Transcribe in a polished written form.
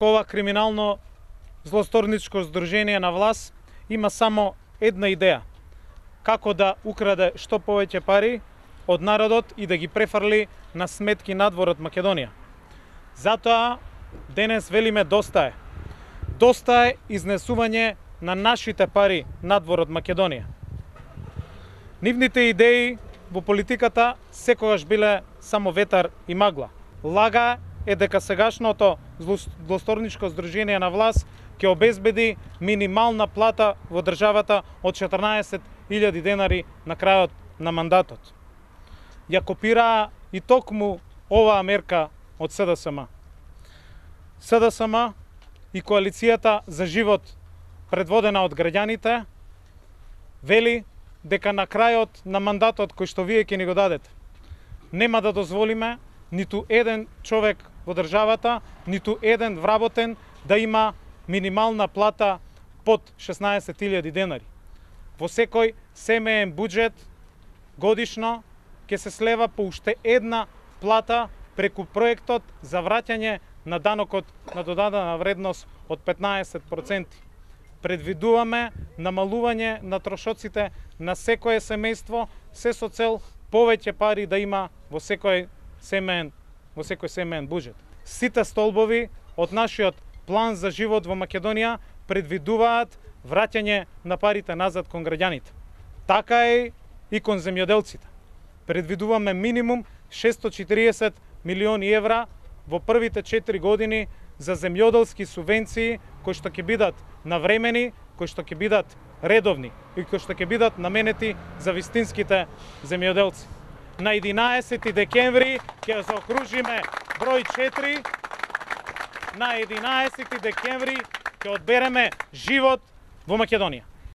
Ова криминално злосторничко здружение на власт има само една идеја: како да украде што повеќе пари од народот и да ги префрли на сметки надвор од Македонија. Затоа денес велиме доста е. Доста е изнесување на нашите пари надвор од Македонија. Нивните идеи во политиката секогаш биле само ветар и магла. Лага е дека сегашното злосторничко здружение на власт ќе обезбеди минимална плата во државата од 14.000 денари на крајот на мандатот. Ја копираа и токму оваа мерка од СДСМ. СДСМ и коалицијата за живот, предводена од граѓаните, вели дека на крајот на мандатот кој што вие ќе ни го дадете, нема да дозволиме ниту еден човек во државата, ниту еден вработен да има минимална плата под 16.000 денари. Во секој семеен буџет годишно ќе се слева по уште една плата преку проектот за враќање на данокот на додадена вредност од 15%. Предвидуваме намалување на трошоците на секое семејство, се со цел повеќе пари да има во секој семеен буџет. Сите столбови од нашиот план за живот во Македонија предвидуваат враќање на парите назад кон граѓаните. Така е и кон земјоделците. Предвидуваме минимум 640 милиони евра во првите 4 години за земјоделски субвенции кои што ќе бидат навремени, кои што ќе бидат редовни и кои што ќе бидат наменети за вистинските земјоделци. На 11 декември ќе заокружиме број 4. На 11 декември ќе одбереме живот во Македонија.